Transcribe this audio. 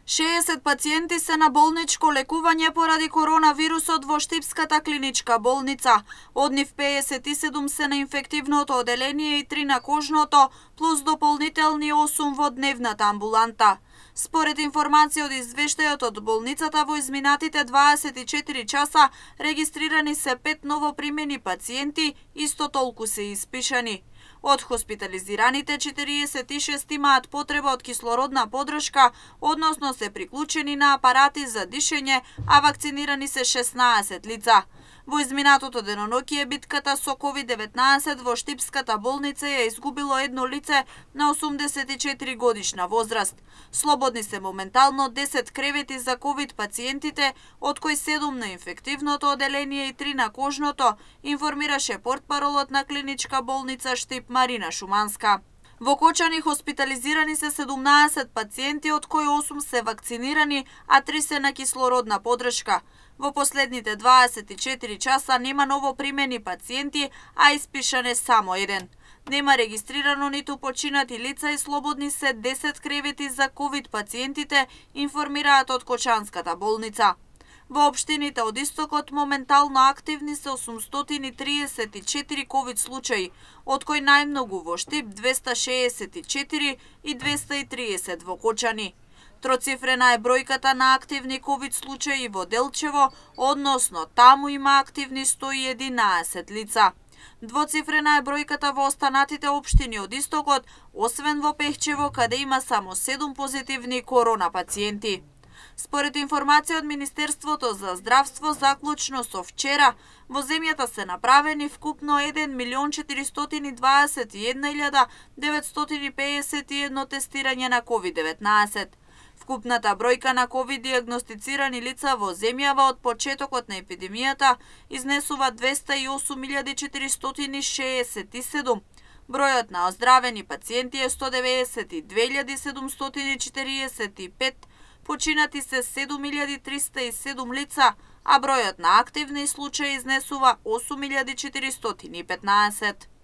60 пациенти се на болничко лекување поради коронавирусот во Штипската клиничка болница. Од нив 57 се на инфективното оделение и 3 на кожното, плюс дополнителни 8 во дневната амбуланта. Според информација од извештајот од болницата, во изминатите 24 часа регистрирани се 5 новопримени пациенти, исто толку се испишани. Од хоспитализираните 46 имаат потреба од кислородна поддршка, односно се приклучени на апарати за дишење, а вакцинирани се 16 лица. Во изминатото деноноќие битката со COVID-19 во Штипската болница ја изгубило едно лице на 84 годишна возраст. Слободни се моментално 10 кревети за COVID пациентите, од кои 7 на инфективното оделение и 3 на кожното, информираше портпаролот на клиничка болница Штип Марина Шуманска. Во Кочани хоспитализирани се 17 пациенти, од кои 8 се вакцинирани, а 3 се на кислородна поддршка. Во последните 24 часа нема новопримени пациенти, а испишан е само еден. Нема регистрирано ниту починати лица и слободни се 10 кревети за COVID пациентите, информираат од Кочанската болница. Во општините од Истокот моментално активни се 834 COVID случаи, од кои најмногу во Штип 264 и 230 во Кочани. Троцифрена е бројката на активни COVID случаи во Делчево, односно таму има активни 111 лица. Двоцифрена е бројката во останатите општини од Истокот, освен во Пехчево, каде има само 7 позитивни корона пациенти. Според информација од Министерството за здравство, заклучно со вчера, во земјата се направени вкупно 1.041.951 тестирање на COVID-19. Вкупната бројка на COVID диагностицирани лица во земјава од почетокот на епидемијата изнесува 208.467. Бројот на оздравени пациенти е 192.745, починати се 7.307 лица, а бројот на активни случаи изнесува 8.415.